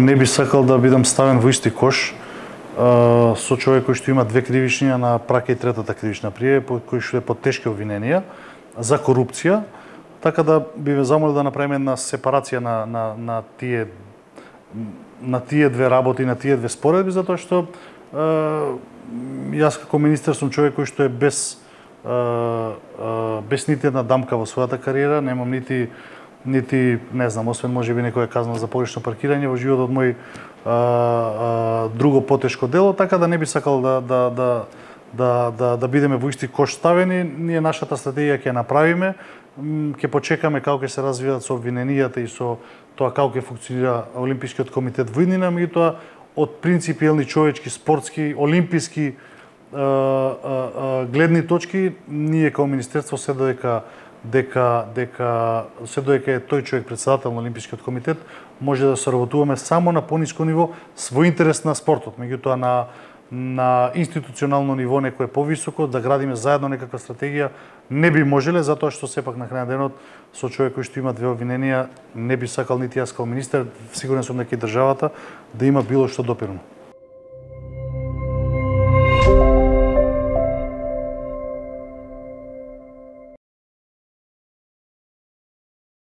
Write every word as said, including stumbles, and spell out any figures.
Не би сакал да бидам ставен во исти кош а, со човек кој што има две кривичња на прака и третата кривична пријава, кој што е под тешки обвиненија за корупција, така да би ве замолил да направиме една сепарација на на на тие на тие две работи, на тие две споредби, затоа што а, јас како министер сум човек кој што е без а, а, без нити една дамка во својата кариера, немам нити нити, не знам, освен можеби некоја казна за погрешно паркирање во животот мој а, а, друго потешко дело, така да не би сакал да да да да да, да бидеме во исти кош ставени. Ние нашата стратегија ќе направиме, ќе почекаме како ќе се развијат со обвиненијата и со тоа како ќе функционира Олимпискиот комитет во иднина, меѓутоа од принципиелни човечки, спортски, олимписки а, а, а, гледни точки, ние како министерство се додека дека дека се додека е тој човек председател на Олимпискиот комитет, може да соработуваме само на пониско ниво во интерес на спортот. Меѓутоа на на институционално ниво некое повисоко да градиме заедно некаква стратегија не би можеле, затоа што сепак на крај на денот со човек кој што има две обвиненија не би сакал нити јас како министер, сигурен сум дека и државата да има било што допирно.